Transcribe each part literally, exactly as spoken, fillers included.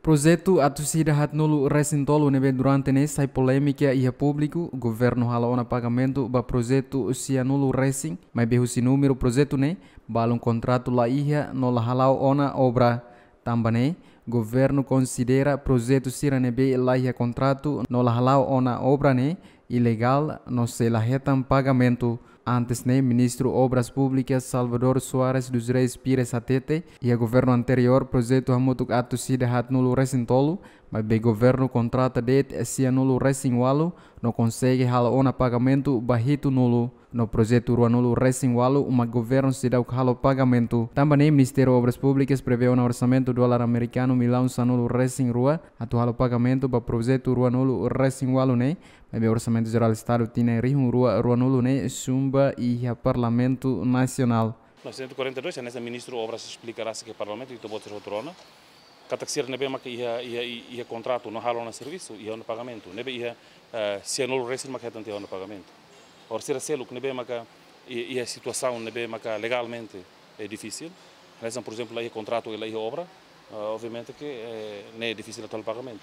Projetu atus ida haat nulu resin tolu ne'ebé durante ne'e sai polémika iha públiku, governu halo ona pagamentu ba projetu sia nulu resin, maibé husi númeru projetu ne'e, balun kontratu la iha no la hala'o ona obra. Tanba ne'e, governu konsidera projetu sira ne'ebé la iha kontratu no la hala'o ona obra ne'e ilegál no sei la hetan pagamentu. Antes ne'e, Ministru Obras Públikas Salvador Soares dos Reis Pires hatete, iha governu anteriór projetu hamutuk atus ida haat nulu resin tolu, maibé governu kontrata de'it sia nulu resin ualu, no konsege halo ona pagamentu ba hitu nulu. No projetu rua nulu resin ualu mak governu seidauk halo pagamentu. Tanba ne'e, Ministériu Obras Públikas prevee ona orsamentu dolar amerikanu millaun sanulu resin rua atu halo pagamentu ba projetu rua nulu resin ualu ne'e, maibé Orsamentu Jerál Estadu tinan rihun rua rua nulu ne'e sumba iha Parlamentu Nasionál. Novecentos e quarenta e dois, hanesan Ministru Obras esplika rasik iha Parlamentu, ita-boot sira hotu rona katak sira ne'ebé maka iha, iha, iha kontratu no halo ona servisu, iha ona pagamentu. Ne'ebé iha, eh, sia nulu resin maka hetan tiha ona pagamentu. Orsida seluk ne'ebé maka i-, iha situasaun ne'ebé maka legalmente é difisil. Hanesan, por ezemplu, la iha kontratu i la iha obra, eh, obviamente ke, eh, ne'e difisil atu halo pagamentu.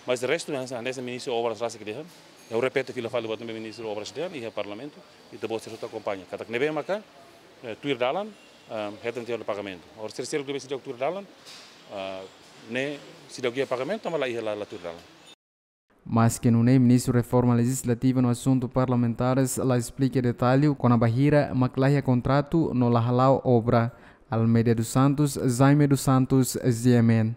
Mas de restu, hanesan, hanesan Ministru Obras rasik dehan, ha'u repete fila fali buat ne'ebé Ministru Obras dehan iha Parlamentu, ita-boot sira hotu akompaña. Katak ne'ebé maka, eh, tuir dalan, eh, hetan tiha ona pagamentu. Orsida seluk ne'ebé seidauk tuir dalan, eh, ne'e seidauk iha pagamentu, maibé la iha, la, la tuir dalan. Maske nune'e, Ministru Reforma Lejizlativa no Asuntu Parlamentares la esplika detallu kona-ba hira mak la iha kontratu no la hala'o obra. Almeida dos Santos, Jaime dos Santos, G M N.